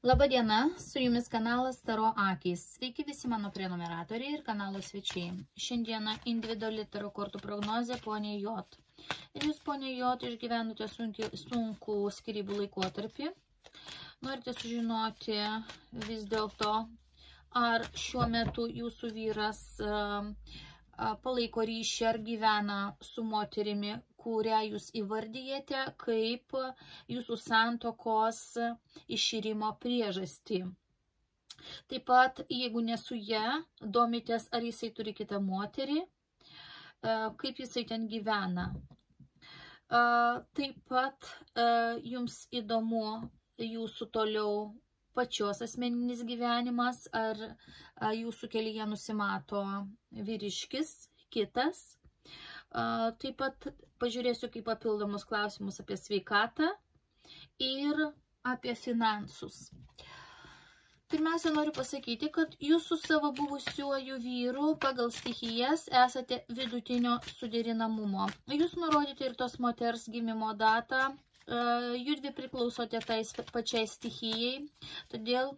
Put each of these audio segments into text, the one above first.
Labadiena, su jumis kanalas Taro Akys. Sveiki visi mano prenumeratoriai ir kanalo svečiai. Šiandieną individuali taro kortų prognozė poniai J. Ir jūs, poniai J, išgyvenote sunkų skyrybų laikotarpį. Norite sužinoti vis dėlto, ar šiuo metu jūsų vyras palaiko ryšį ar gyvena su moterimi, kurią jūs įvardyjate kaip jūsų santokos iširimo priežastį. Taip pat, jeigu ne su ja, domitės, ar jisai turi kitą moterį, kaip jisai ten gyvena. Taip pat, jums įdomu jūsų toliau pačios asmeninis gyvenimas, ar jūsų kelyje nusimato vyriškis, kitas. Taip pat pažiūrėsiu kaip papildomus klausimus apie sveikatą ir apie finansus. Pirmiausia, noriu pasakyti, kad jūs su savo buvusiuoju vyru pagal stichijas esate vidutinio suderinamumo. Jūs nurodite ir tos moters gimimo datą. Judvi priklausote tai pačiai stichijai, todėl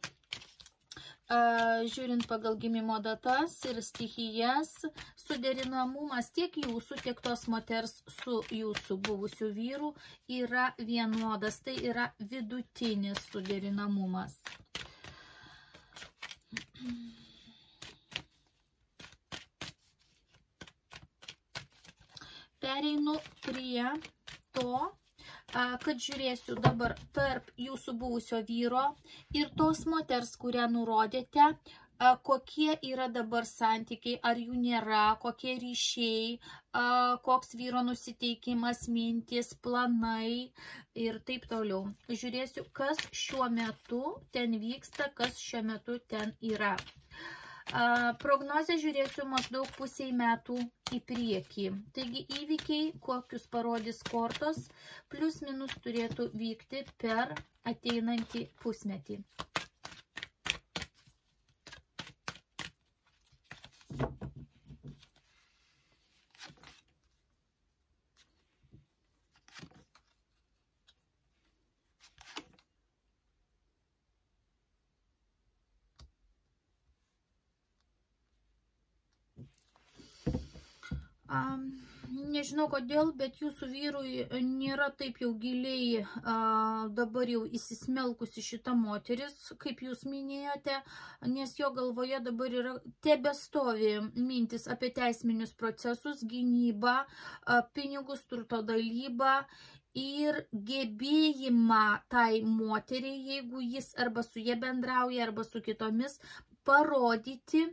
žiūrint pagal gimimo datas ir stichijas, suderinamumas tiek jūsų, tiek tos moters su jūsų buvusiu vyru yra vienodas, tai yra vidutinis suderinamumas. Pereinu prie to, kad žiūrėsiu dabar tarp jūsų buvusio vyro ir tos moters, kurią nurodėte, kokie yra dabar santykiai, ar jų nėra, kokie ryšiai, koks vyro nusiteikimas, mintis, planai ir taip toliau. Žiūrėsiu, kas šiuo metu ten vyksta, kas šiuo metu ten yra. Prognozę žiūrėsiu maždaug pusiai metų į priekį. Taigi įvykiai, kokius parodys kortos, plus minus turėtų vykti per ateinantį pusmetį. Nežinau kodėl, bet jūsų vyrui nėra taip jau giliai dabar jau įsismelkusi šita moteris, kaip jūs minėjote, nes jo galvoje dabar yra tebestovi mintis apie teisminius procesus, gynybą, pinigus, turto dalybą ir gebėjimą tai moteriai, jeigu jis arba su jie bendrauja, arba su kitomis, parodyti,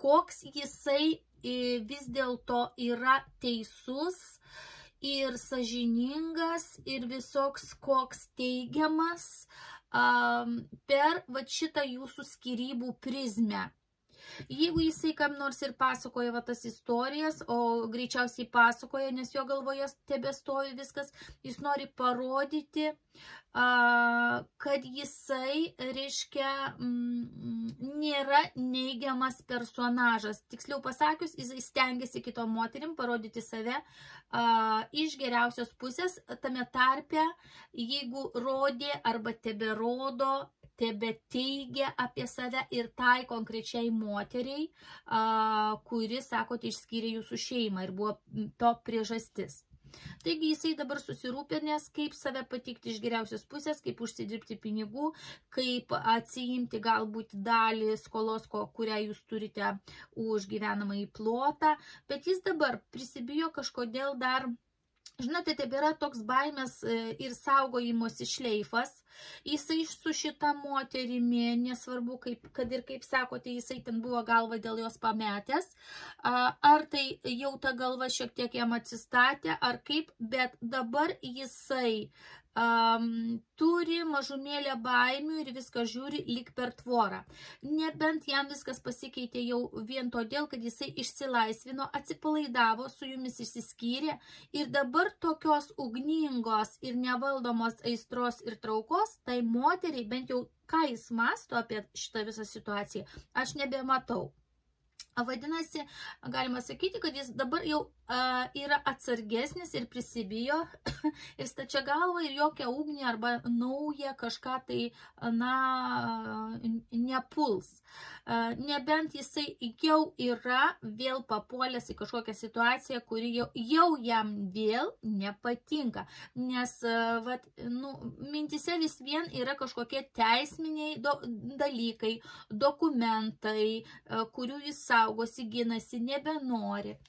koks jisai vis dėlto yra teisus ir sąžiningas ir visoks koks teigiamas per šitą jūsų skyrybų prizmę. Jeigu jisai kam nors ir pasakoja tas istorijas, o greičiausiai pasakoja, nes jo galvoje tebestovi viskas, jis nori parodyti, kad jisai, reiškia, nėra neigiamas personažas. Tiksliau pasakius, jisai stengiasi kitom moterim parodyti save iš geriausios pusės, tame tarpe, jeigu rodė arba teberodo, tebeteigia apie save ir tai konkrečiai moteriai, kuri, sakote, išskyrė jūsų šeimą ir buvo to priežastis. Taigi jisai dabar susirūpinęs, kaip save patikti iš geriausios pusės, kaip užsidirbti pinigų, kaip atsiimti galbūt dalį skolos, kurią jūs turite už gyvenamąjį plotą, bet jis dabar prisibijo kažkodėl dar. Žinote, taip yra toks baimės ir saugojimosi šleifas. Jisai su šita moterimi, nesvarbu, kad ir kaip sakote, jisai ten buvo galva dėl jos pametęs. Ar tai jau ta galva šiek tiek jam atsistatė, ar kaip, bet dabar jisai turi mažumėlę baimių ir viską žiūri lyg per tvorą. Nebent jam viskas pasikeitė jau vien todėl, kad jisai išsilaisvino, atsipalaidavo, su jumis išsiskyrė ir dabar tokios ugningos ir nevaldomos aistros ir traukos, tai moteriai, bent jau ką jis mąsto apie šitą visą situaciją, aš nebematau. Vadinasi, galima sakyti, kad jis dabar jau yra atsargesnis ir prisibijo ir stačia galva ir jokia ugnį arba naują kažką tai, nepuls. Nebent jisai jau yra vėl papuolęs į kažkokią situaciją, kuri jau jam vėl nepatinka. Nes mintise vis vien yra kažkokie teisminiai dalykai, dokumentai, kurių jis saugosi, ginasi, nebenori.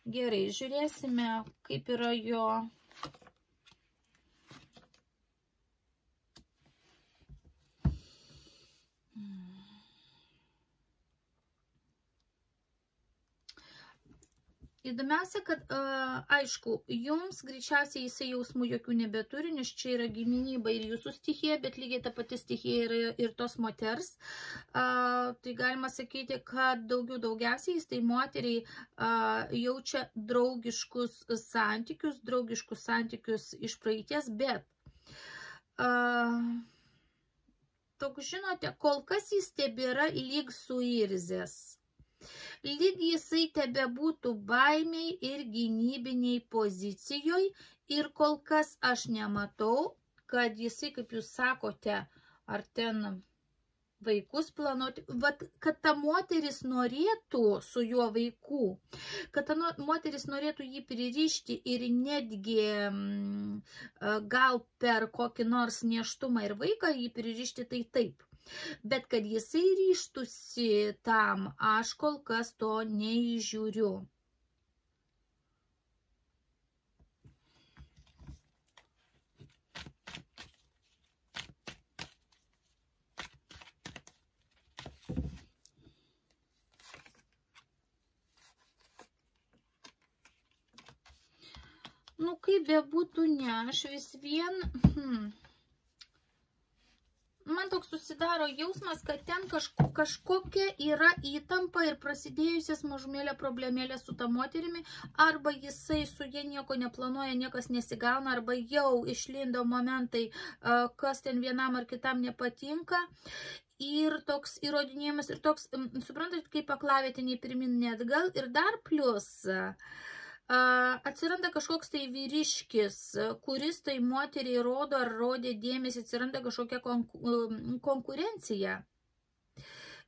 Gerai, žiūrėsime, kaip yra jo. Įdomiausia, kad, aišku, jums greičiausiai jisai jausmų jokių nebeturi, nes čia yra giminyba ir jūsų stichija, bet lygiai ta pati stichija yra ir tos moters. Tai galima sakyti, kad daugiausiai jis tai moteriai jaučia draugiškus santykius iš praeities, bet toks, žinote, kol kas jis tebėra lyg suirzęs. Lyg jisai tebe būtų baimiai ir gynybiniai pozicijoje ir kol kas aš nematau, kad jisai, kaip jūs sakote, ar ten vaikus planuoti, kad ta moteris norėtų su juo vaikų, kad ta moteris norėtų jį pririšti ir netgi gal per kokį nors nėštumą ir vaiką jį pririšti, tai taip. Bet kad jisai ryžtųsi tam, aš kol kas to neįžiūriu. Nu, kaip bebūtų, ne, aš vis vien... Man toks susidaro jausmas, kad ten kažkokia yra įtampa ir prasidėjusias mažumėlė problemėlė su ta moterimi, arba jisai su jie nieko neplanuoja, niekas nesigauna, arba jau išlindo momentai, kas ten vienam ar kitam nepatinka. Ir toks įrodinėjimas, ir toks, suprantat, kaip aklavietiniai pirmin neatgal, ir dar plus... atsiranda kažkoks tai vyriškis, kuris tai moteriai rodo ar rodė dėmesį, atsiranda kažkokia konkurencija.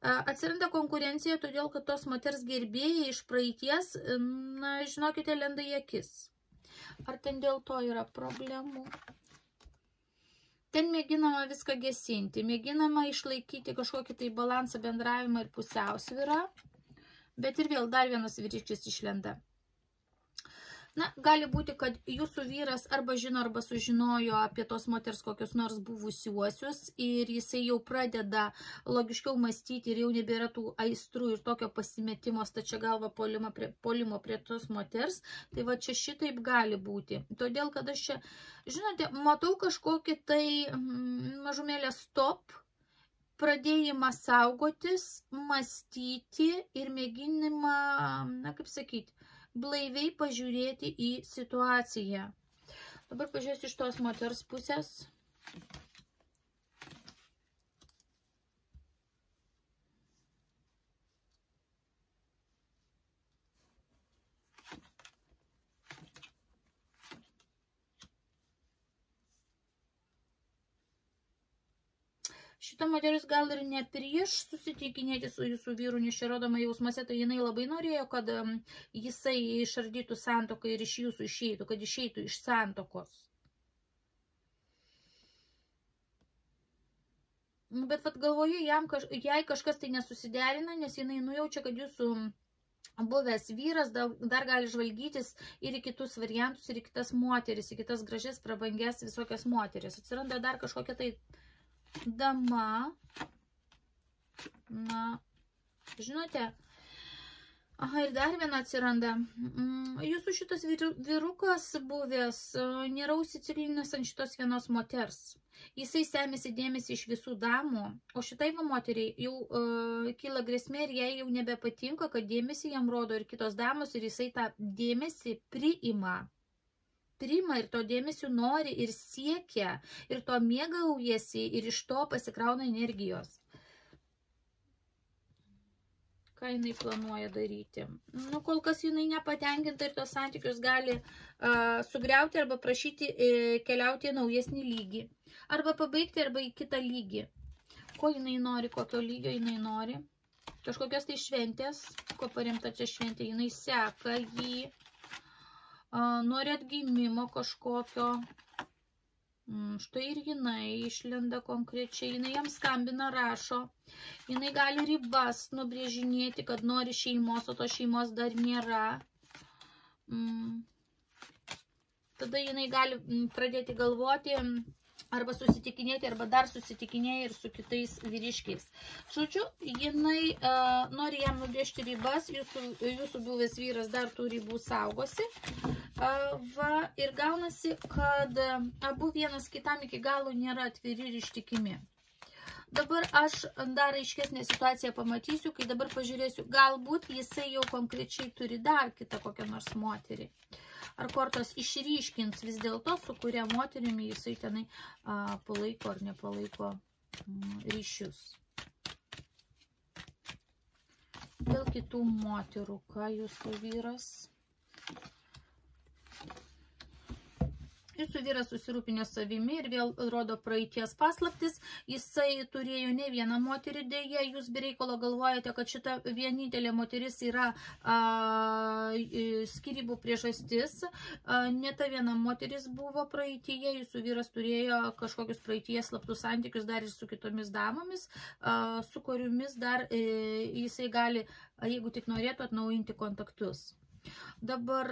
Atsiranda konkurencija, todėl, kad tos moters gerbėjai iš praeities, na, žinokite, lenda į akis. Ar ten dėl to yra problemų? Ten mėginama viską gesinti, mėginama išlaikyti kažkokį tai balansą, bendravimą ir pusiausvyrą, bet ir vėl dar vienas vyriškis išlenda. Na, gali būti, kad jūsų vyras arba žino, arba sužinojo apie tos moters kokius nors buvusiuosius ir jisai jau pradeda logiškiau mąstyti ir jau nebėra tų aistrų ir tokio pasimetimo stačia galva puolimo prie tos moters. Tai va čia šitaip gali būti. Todėl, kad aš čia, žinote, matau kažkokį tai mažumėlę stop, pradėjimą saugotis, mąstyti ir mėginimą, na, kaip sakyti, blaiviai pažiūrėti į situaciją. Dabar pažiūrėsiu iš tos moters pusės. Šita moteris gal ir ne prieš susitikinėti su jūsų vyru, nes čia rodoma jausmuose, tai jinai labai norėjo, kad jisai išardytų santuoką ir iš jūsų išeitų, kad išeitų iš santokos. Bet vat galvoju, jai kažkas tai nesusiderina, nes jinai nujaučia, kad jūsų buvęs vyras dar gali žvalgytis ir į kitus variantus, ir į kitas moteris, į kitas gražias, prabangias visokias moteris. Atsiranda dar kažkokia tai dama, na, žinote, aha, ir dar viena atsiranda. Jūsų šitas vyrukas buvęs nėra užsiciklinęs ant šitos vienos moters. Jisai semėsi dėmesį iš visų damų, o šitai moteriai jau kyla grėsmė ir jai jau nebepatinka, kad dėmesį jam rodo ir kitos damos ir jisai tą dėmesį priima ir to dėmesio nori ir siekia, ir to mėgaujasi, ir iš to pasikrauna energijos. Ką jinai planuoja daryti? Nu, kol kas jinai nepatenkinta ir tos santykius gali sugriauti arba prašyti keliauti į naujesnį lygį. Arba pabaigti, arba į kitą lygį. Ko jinai nori, kokio lygio jinai nori? Kažkokios tai šventės, ko paremta čia šventė, jinai seka jį, nori atgimimo kažkokio. Štai ir jinai išlenda konkrečiai, jinai jam skambina, rašo, jinai gali ribas nubrėžinėti, kad nori šeimos, o to šeimos dar nėra. Tada jinai gali pradėti galvoti, arba susitikinėti, arba dar susitikinėja ir su kitais vyriškiais. Žodžiu, jinai nori jam nubrėžti ribas, jūsų buvęs vyras dar tų ribų saugosi. Ir gaunasi, kad abu vienas kitam iki galo nėra atviri ir ištikimi. Dabar aš dar aiškesnę situaciją pamatysiu, kai dabar pažiūrėsiu, galbūt jisai jau konkrečiai turi dar kitą kokią nors moterį. Ar kortos išryškins vis dėlto, su kuria moterimi jisai tenai palaiko ar nepalaiko ryšius. Dėl kitų moterų, ką jūsų vyras? Jūsų vyras susirūpinęs savimi ir vėl rodo praeities paslaptis. Jisai turėjo ne vieną moterį dėję. Jūs be reikalo galvojate, kad šita vienintelė moteris yra skyrybų priežastis. Ne ta viena moteris buvo praeityje. Jūsų vyras turėjo kažkokius praeities slaptus santykius dar ir su kitomis damomis, su kuriomis dar jisai gali, jeigu tik norėtų, atnaujinti kontaktus. Dabar,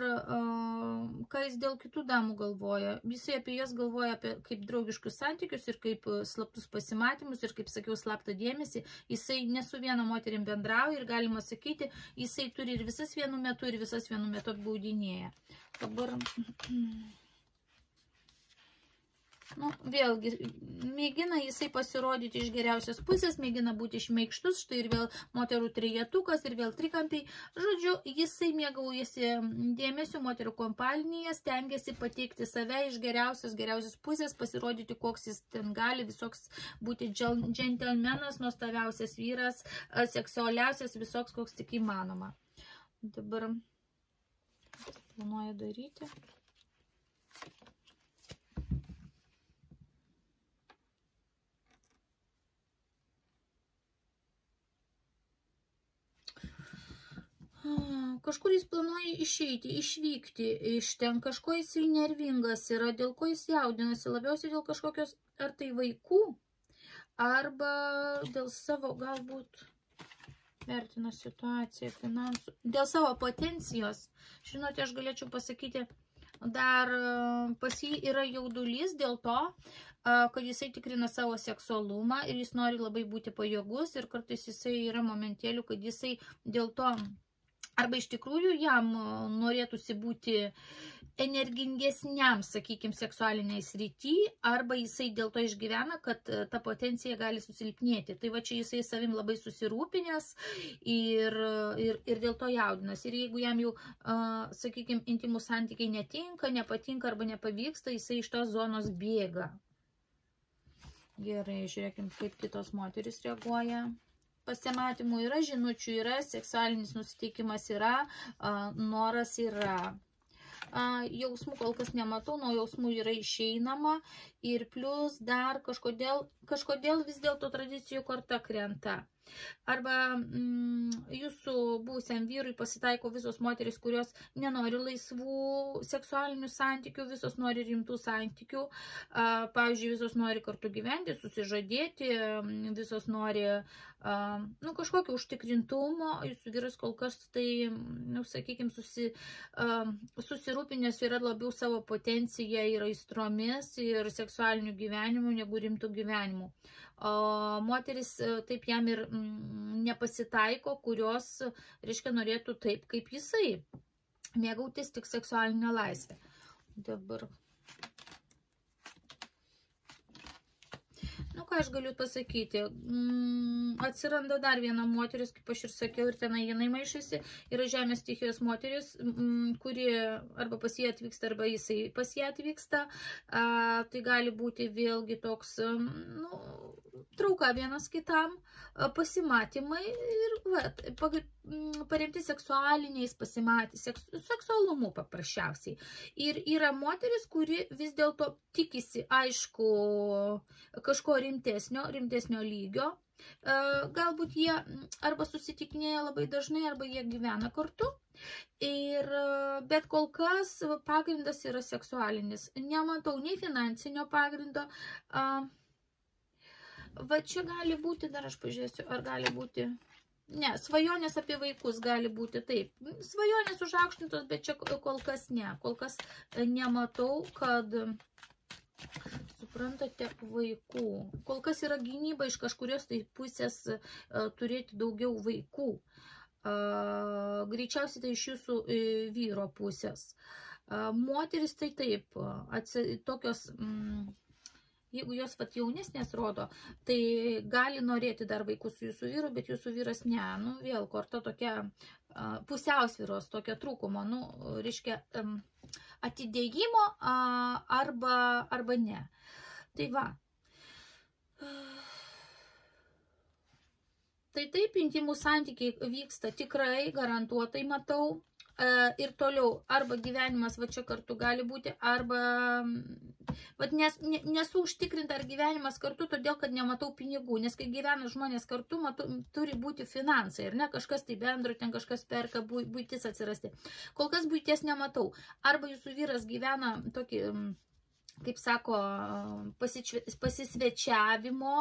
ką jis dėl kitų damų galvoja? Jisai apie jas galvoja kaip draugiškus santykius ir kaip slaptus pasimatymus ir, kaip sakiau, slaptą dėmesį. Jisai ne su viena moterim bendrauja ir galima sakyti, jisai turi ir visas vienu metu ir visas vienu metu apgaudinėja. Dabar... Nu, vėlgi, mėgina jisai pasirodyti iš geriausios pusės, mėgina būti šmeikštus, štai ir vėl moterų trejetukas, ir vėl trikampiai. Žodžiu, jisai mėgaujasi dėmesio moterų kompanijai, stengiasi pateikti save iš geriausios pusės, pasirodyti, koks jis ten gali, visoks būti džentelmenas, nuostabiausias vyras, seksualiausias, visoks, koks tik įmanoma. Dabar planuoja daryti. Kažkur jis planuoja išeiti, išvykti iš ten, kažko jisai nervingas yra, dėl ko jis jaudinasi, labiausiai dėl kažkokios, ar tai vaikų, arba dėl savo, galbūt, vertina situaciją, finansų, dėl savo potencijos. Žinote, aš galėčiau pasakyti, dar pas jį yra jaudulys dėl to, kad jisai tikrina savo seksualumą ir jis nori labai būti pajėgus ir kartais jisai yra momentėlių, kad jisai dėl to arba iš tikrųjų jam norėtųsi būti energingesniam, sakykime, seksualiniai srity, arba jisai dėl to išgyvena, kad ta potencija gali susilpnėti. Tai va čia jisai savim labai susirūpinęs ir dėl to jaudinas. Ir jeigu jam jau, sakykime, intimų santykiai netinka, nepatinka arba nepavyksta, jisai iš tos zonos bėga. Gerai, žiūrėkim, kaip kitos moteris reaguoja. Pasimatymų yra, žinučių yra, seksualinis nusiteikimas yra, noras yra. Jausmų kol kas nematau, nuo jausmų yra išeinama ir plus dar kažkodėl vis dėlto tradicijų korta krenta. Arba jūsų buvusiam vyrui pasitaiko visos moteris, kurios nenori laisvų seksualinių santykių, visos nori rimtų santykių. Pavyzdžiui, visos nori kartu gyventi, susižadėti, visos nori kažkokio užtikrintumo. Jūsų vyras kol kas tai, sakykime, susirūpinęs yra labiau savo potenciją ir aistromis ir seksualiniu gyvenimu negu rimtų gyvenimų. Moteris taip jam ir nepasitaiko, kurios, reiškia, norėtų taip, kaip jisai, mėgautis tik seksualinę laisvę. Dabar. Nu, ką aš galiu pasakyti, atsiranda dar viena moteris, kaip aš ir sakiau, ir tenai jinai maišasi, yra žemės stichijos moteris, kuri arba pas jį atvyksta, arba jisai pas jį atvyksta. Tai gali būti vėlgi toks, trauka vienas kitam, pasimatymai ir paremti seksualiniais seksualumu paprasčiausiai. Ir yra moteris, kuri vis dėlto tikisi, aišku, kažko rimtesnio lygio. Galbūt jie arba susitikinėja labai dažnai, arba jie gyvena kartu. Bet kol kas pagrindas yra seksualinis. Nematau nei finansinio pagrindo. Va čia gali būti, dar aš pažiūrėsiu, ar gali būti... Ne, svajonės apie vaikus gali būti taip. Svajonės užaukštintos, bet čia kol kas ne. Kol kas nematau, kad... Suprantate, vaikų. Kol kas yra gynyba iš kažkurios tai pusės turėti daugiau vaikų. Greičiausiai tai iš jūsų vyro pusės. Moteris tai taip, tokios, jeigu jos jaunesnės rodo, tai gali norėti dar vaikų su jūsų vyru, bet jūsų vyras ne. Nu, vėl korta tokia pusiausvyros, tokia trūkumo, nu, reiškia, atidėjimo arba ne. Tai va. Tai taip, intimų santykiai vyksta tikrai, garantuotai matau. Ir toliau, arba gyvenimas va čia kartu gali būti, arba nesu užtikrinta, ar gyvenimas kartu, todėl, kad nematau pinigų, nes kai gyvena žmonės kartu, turi būti finansai, ir ne, kažkas tai bendro, ten kažkas perka, buitis atsirasti. Kol kas buities nematau. Arba jūsų vyras gyvena tokį, kaip sako, pasisvečiavimo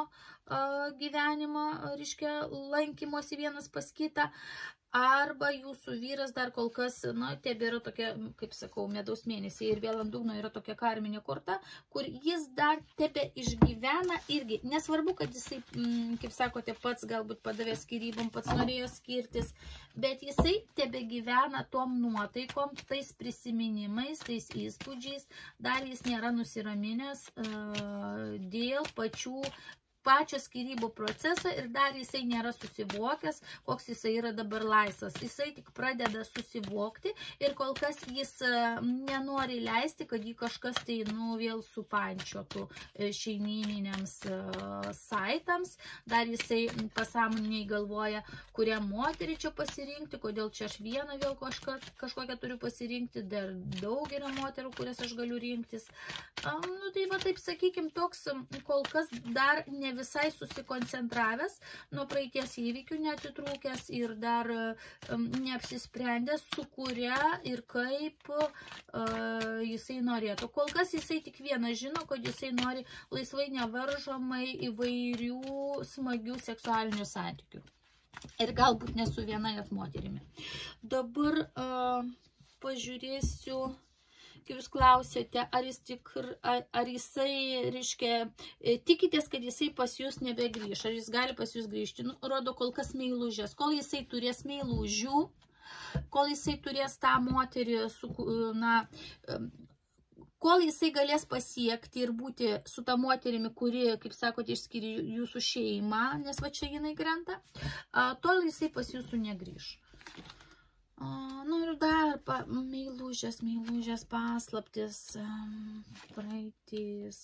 gyvenimą, reiškia, lankymosi vienas pas kitą, arba jūsų vyras dar kol kas, na, tebėra tokia, kaip sakau, medaus mėnesiai ir vėl ant dugno yra tokia karminė korta, kur jis dar tebe išgyvena irgi. Nesvarbu, kad jisai, kaip sakote, pats galbūt padavė skyrybom, pats norėjo skirtis, bet jisai tebe gyvena tom nuotaikom, tais prisiminimais, tais įspūdžiais, dar jis nėra nusiraminęs dėl pačio skyrybų procesą ir dar jisai nėra susivokęs, koks jisai yra dabar laisvas. Jisai tik pradeda susivokti ir kol kas jis nenori leisti, kad jį kažkas tai, nu, vėl supančiotų šeimyniniams saitams. Dar jisai pasąmoniniai galvoja, kurią moterį čia pasirinkti, kodėl čia aš vieną vėl kažkokią turiu pasirinkti, dar daug yra moterų, kurias aš galiu rinktis. Nu, tai va taip, sakykim, toks kol kas dar ne visai susikoncentravęs, nuo praeities įvykių neatitrūkęs ir dar neapsisprendęs, su kuria ir kaip jisai norėtų. Kol kas jisai tik vieną žino, kad jisai nori laisvai nevaržomai įvairių smagių seksualinių santykių. Ir galbūt ne su viena net moterimi. Dabar pažiūrėsiu... Kaip jūs klausėte, ar jisai, reiškia, tikitės, kad jisai pas jūs nebegrįš, ar jis gali pas jūs grįžti. Nu, rodo kol kas meilužės. Kol jisai turės meilužių, kol jisai turės tą moterį, kol jisai galės pasiekti ir būti su ta moterimi, kuri, kaip sakote, išskiria jūsų šeimą, nes va čia jinai krenta, tol jisai pas jūsų negrįš. Nu ir dar meilužės paslaptis, praeitis.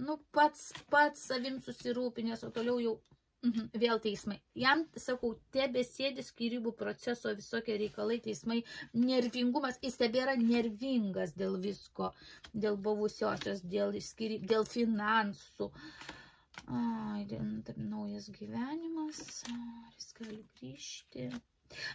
Nu, pats savim susirūpinęs, o toliau jau vėl teismai. Jam, sakau, tebesėdi skyrybų proceso visokie reikalai, teismai, nervingumas, jis tebėra nervingas dėl visko, dėl buvusiosios, dėl finansų. Naujas gyvenimas, jis gali grįžti.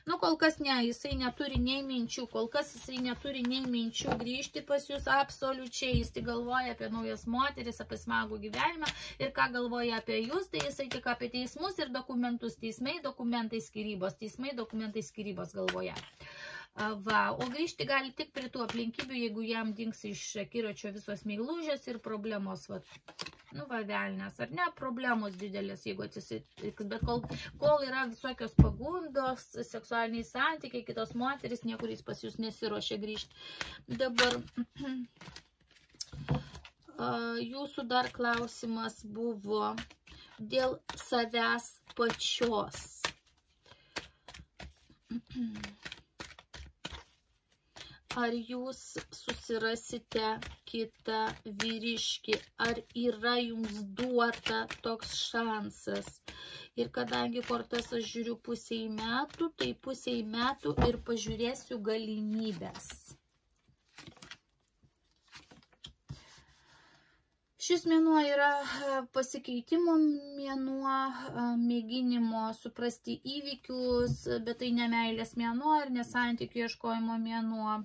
Nu, kol kas ne, jisai neturi nei minčių, kol kas jisai neturi nei minčių grįžti pas jūs absoliučiai, jis tik galvoja apie naujas moteris, apie smagų gyvenimą ir ką galvoja apie jūs, tai jisai tik apie teismus ir dokumentus, teismai, dokumentai, skyrybos, teismai, dokumentai, skyrybos galvoja. Va, o grįžti gali tik prie tų aplinkybių, jeigu jam dings iš akiračio visos meilužės ir problemos, va, nu, va, velnės, ar ne, problemos didelės, jeigu atsisitiks, bet kol yra visokios pagundos, seksualiniai santykiai, kitos moteris, niekur jis pas jūs nesiruošia grįžti. Dabar jūsų dar klausimas buvo dėl savęs pačios. ar jūs susirasite kitą vyriškį, ar yra jums duota toks šansas. Ir kadangi kortas aš žiūriu pusiai metų, tai pusiai metų ir pažiūrėsiu galimybės. Šis mėnuo yra pasikeitimo mėnuo, mėginimo suprasti įvykius, bet tai ne meilės mėnuo ir ne santykių ieškojimo mėnuo.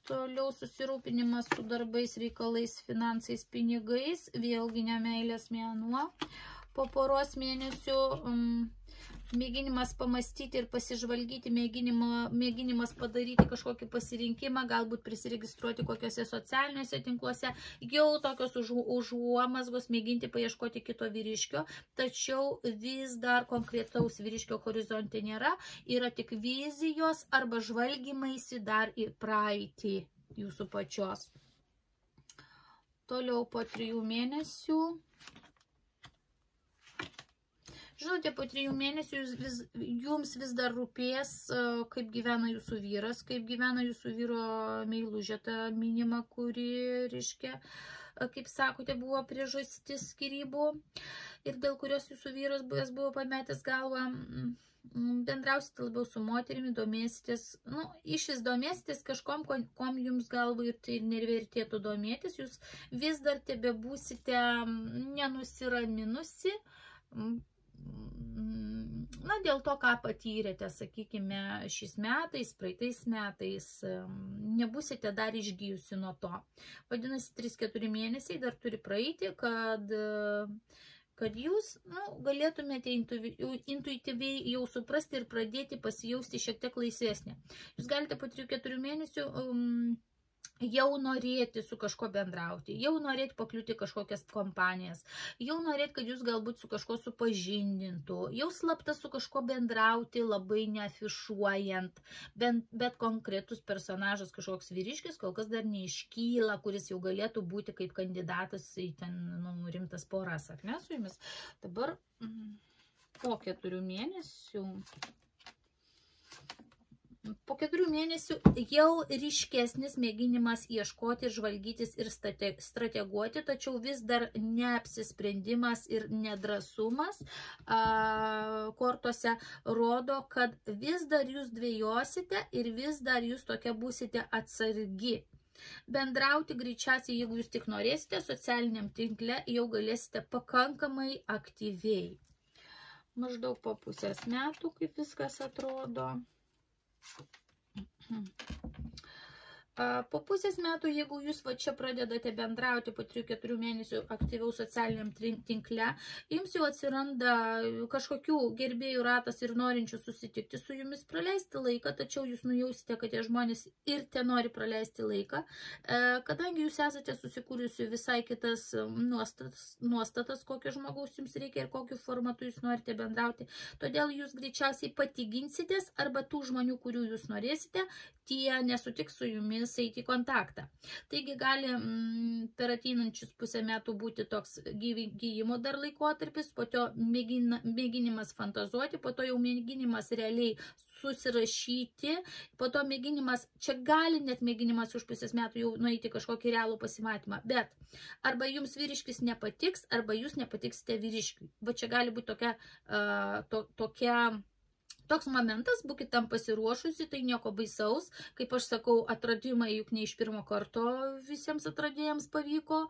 Toliau susirūpinimas su darbais, reikalais, finansais, pinigais, vėlgi ne meilės mėnuo. Po poros mėnesių mėginimas pamastyti ir pasižvalgyti, mėginimas padaryti kažkokį pasirinkimą, galbūt prisiregistruoti kokiuose socialiniuose tinkluose, jau tokios užuomazgos mėginti paieškoti kito vyriškio, tačiau vis dar konkretaus vyriškio horizonte nėra, yra tik vizijos arba žvalgymaisi dar į praeitį jūsų pačios. Toliau po 3 mėnesių. Žinote, po 3 mėnesių jums vis dar rūpės, kaip gyvena jūsų vyras, kaip gyvena jūsų vyro meilužė, ta minima, kuri, reiškia, kaip sakote, buvo priežastis skyrybų ir dėl kurios jūsų vyras buvo pametęs galvą. Bendrausite labiau su moterimi, domėsitės, iš vis domėsitės kažkom, kom jums galva ir tai nevertėtų domėtis, jūs vis dar tebebūsite nenusiraminusi, dėl to, ką patyrėte, sakykime, šiais metais, praeitais metais, nebūsite dar išgyjusi nuo to. Vadinasi, 3-4 mėnesiai dar turi praeiti, kad jūs galėtumėte intuityviai jau suprasti ir pradėti pasijausti šiek tiek laisvesnė. Jūs galite po 3-4 mėnesių jau norėti su kažko bendrauti, jau norėti pakliūti kažkokias kompanijas, jau norėti, kad jūs galbūt su kažko supažindintų, jau slapta su kažko bendrauti, labai neafišuojant, bet konkretus personažas, kažkoks vyriškis, kol kas dar neiškyla, kuris jau galėtų būti kaip kandidatas į ten rimtas poras, ar ne, su jumis. Dabar po 4 mėnesių. Po 4 mėnesių jau ryškesnis mėginimas ieškoti, žvalgytis ir strateguoti, tačiau vis dar neapsisprendimas ir nedrąsumas kortose rodo, kad vis dar jūs dvejosite ir vis dar jūs tokia būsite atsargi. Bendrauti greičiausiai, jeigu jūs tik norėsite, socialiniam tinkle jau galėsite pakankamai aktyviai. Maždaug po pusės metų, kaip viskas atrodo. Po pusės metų, jeigu jūs va čia pradedate bendrauti po 3-4 mėnesių aktyviau socialiniam tinkle, jums jau atsiranda kažkokių gerbėjų ratas ir norinčių susitikti su jumis, praleisti laiką, tačiau jūs nujausite, kad tie žmonės ir te nori praleisti laiką, kadangi jūs esate susikūrusi visai kitas nuostatas, kokio žmogaus jums reikia ir kokiu formatu jūs norite bendrauti, todėl jūs greičiausiai pati ginsitės arba tų žmonių, kurių jūs norėsite, tie nesutiks su jumis eiti į kontaktą. Taigi gali per ateinančius pusę metų būti toks gyjimo dar laikotarpis, po to mėginimas fantazuoti, po to jau mėginimas realiai susirašyti, po to mėginimas, čia gali net mėginimas už pusės metų jau nueiti kažkokį realų pasimatymą, bet arba jums vyriškis nepatiks, arba jūs nepatiksite vyriškiui. Va čia gali būti toks momentas, būkite tam pasiruošusi, tai nieko baisaus. Kaip aš sakau, atradimai juk ne iš pirmo karto visiems atradėjams pavyko.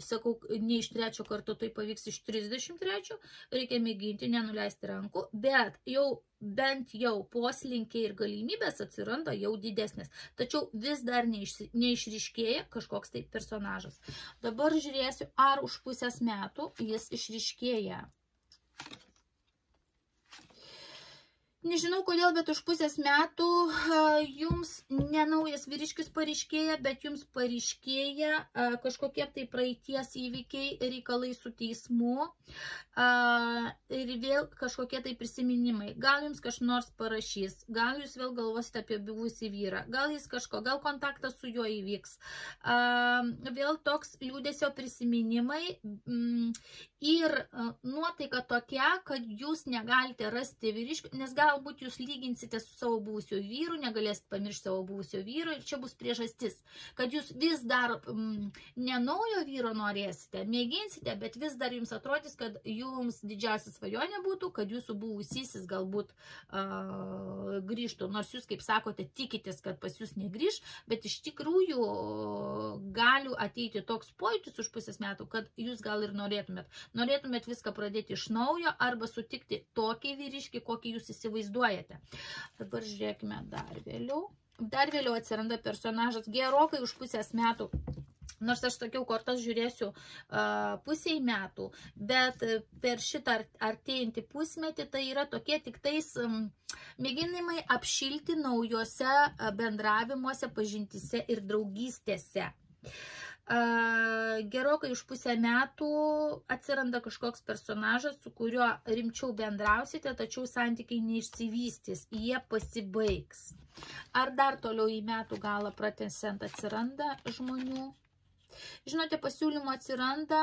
Sakau, ne iš 3 karto, tai pavyks iš 33. Reikia mėginti, nenuleisti rankų, bet jau bent jau poslinkiai ir galimybės atsiranda jau didesnės. Tačiau vis dar neišryškėja kažkoks tai personažas. Dabar žiūrėsiu, ar už pusės metų jis išryškėja. Nežinau kodėl, bet už pusės metų jums ne naujas vyriškis pareiškėja, bet jums pareiškėja kažkokie tai praeities įvykiai, reikalai su teismu ir vėl kažkokie tai prisiminimai. Gal jums kažkas nors parašys, gal jūs vėl galvosite apie buvusį vyrą, gal jis gal kontaktas su juo įvyks. Vėl toks liūdesio prisiminimai ir nuotaika tokia, kad jūs negalite rasti vyriškių, nes gal galbūt jūs lyginsite su savo buvusio vyru, negalėsit pamiršti savo buvusio vyro ir čia bus priežastis, kad jūs vis dar ne naujo vyro norėsite, mėginsite, bet vis dar jums atrodys, kad jums didžiausia svajonė būtų, kad jūsų buvusysis galbūt grįžtų, nors jūs, kaip sakote, tikitės, kad pas jūs negrįž, bet iš tikrųjų gali ateiti toks pojūtis už pusės metų, kad jūs gal ir norėtumėt viską pradėti iš naujo arba sutikti tokį vyriškį, kokį jūs įsivaizduojate. Dabar žiūrėkime dar vėliau. Dar vėliau atsiranda personažas gerokai už pusės metų. Nors aš sakiau, kortas žiūrėsiu pusiai metų, bet per šitą artėjantį pusmetį tai yra tokie tik tais mėginimai apšilti naujose bendravimuose, pažintyse ir draugystėse. Gerokai už pusę metų atsiranda kažkoks personažas, su kuriuo rimčiau bendrausite, tačiau santykiai neišsivystys, jie pasibaigs. Ar dar toliau į metų galą pratęsiant atsiranda žmonių? Žinote, pasiūlymų atsiranda,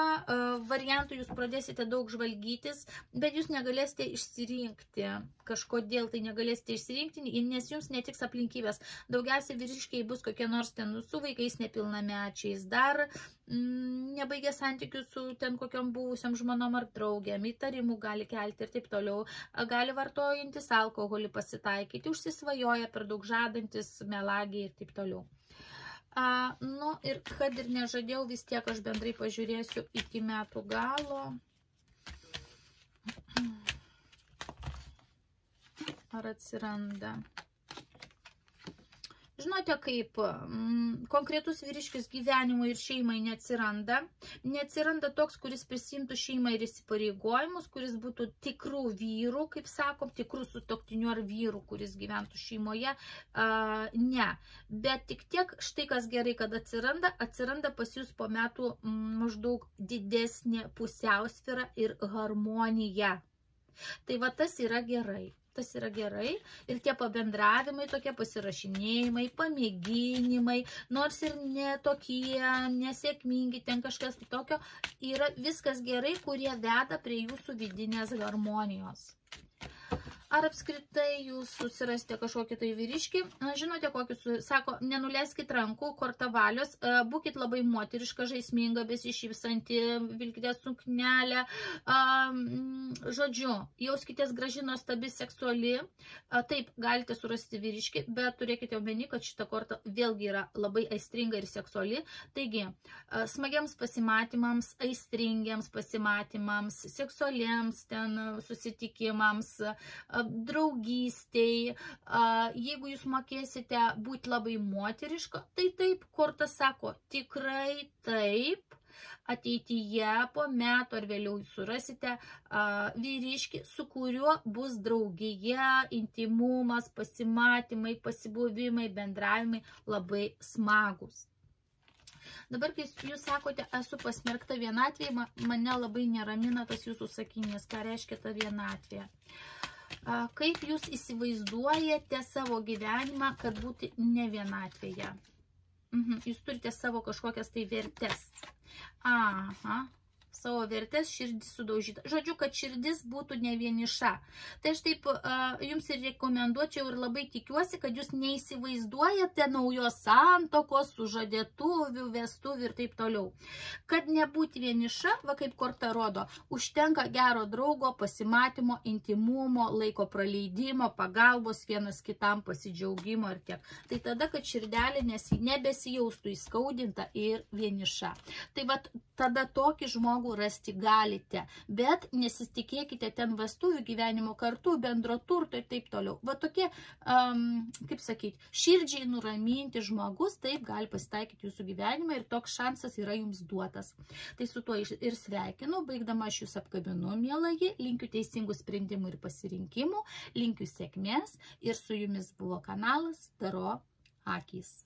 variantų jūs pradėsite daug žvalgytis, bet jūs negalėsite išsirinkti. Kažkodėl tai negalėsite išsirinkti, nes jums netiks aplinkybės. Daugiausiai vyriškiai bus kokie nors ten su vaikais nepilnamečiais, dar nebaigė santykių su ten kokiom buvusiam žmonom ar draugėm, įtarimų gali kelti ir taip toliau. Gali vartojantis alkoholį pasitaikyti, užsisvajoja per daug žadantis, melagiai ir taip toliau. Nu ir kad ir nežadėjau, vis tiek aš bendrai pažiūrėsiu iki metų galo. Ar atsiranda? Žinote, kaip konkretus vyriškis gyvenimui ir šeimai neatsiranda. Neatsiranda toks, kuris prisimtų šeimą ir įsipareigojimus, kuris būtų tikrų vyrų, kaip sakom, tikrų sutuoktinių ar vyrų, kuris gyventų šeimoje. Ne. Bet tik tiek, štai kas gerai, kad atsiranda pas jūs po metų maždaug didesnė pusiausvyra ir harmonija. Tai va tas yra gerai. Tas yra gerai ir tie pabendravimai, tokie pasirašinėjimai, pamėginimai, nors ir ne tokie nesėkmingi, ten kažkas tokio, yra viskas gerai, kurie veda prie jūsų vidinės harmonijos. Ar apskritai jūs susirasite kažkokį tai vyriškį? Žinote, kokius, sako, nenuleiskit rankų, korta valios, būkit labai moteriška, žaisminga, besišypsanti, vilkite suknelę, žodžiu, jauskitės graži, nuostabi, seksuali. Taip, galite surasti vyriškį, bet turėkite omeny, kad šita korta vėlgi yra labai aistringa ir seksuali. Taigi, smagiams pasimatymams, aistringiams pasimatymams, seksualiems ten susitikimams, draugystei, jeigu jūs mokėsite būti labai moteriška, tai taip, korta sako, tikrai taip, ateityje po metų ar vėliau surasite vyriškį, su kuriuo bus draugija, intimumas, pasimatymai, pasibuvimai, bendravimai labai smagus. Dabar, kai jūs sakote, esu pasmerkta vienatvėje, mane labai neramina tas jūsų sakinys, ką reiškia ta vienatvė. Kaip jūs įsivaizduojate savo gyvenimą, kad būti ne vienatvėje? Jūs turite savo kažkokias tai vertes. Savo vertės, širdis sudaužyta. Žodžiu, kad širdis būtų ne vieniša. Tai aš taip jums ir rekomenduočiau ir labai tikiuosi, kad jūs neįsivaizduojate naujos santokos, sužadėtuvių, vestuvių ir taip toliau. Kad nebūti vieniša, va kaip korta rodo, užtenka gero draugo, pasimatymo, intimumo, laiko praleidimo, pagalbos vienas kitam, pasidžiaugimo ir tiek. Tai tada, kad širdelė nebesijaustų įskaudinta ir vieniša. Tai va tada tokį žmogų rasti galite, bet nesitikėkite ten vestuvių, gyvenimo kartu, bendro turto ir taip toliau. Va tokie, kaip sakyti, širdžiai nuraminti žmogus, taip gali pasitaikyti jūsų gyvenimą ir toks šansas yra jums duotas. Tai su tuo ir sveikinu, baigdama aš jūs apkabinu, mielai, linkiu teisingų sprendimų ir pasirinkimų, linkiu sėkmės ir su jumis buvo kanalas Taro akys.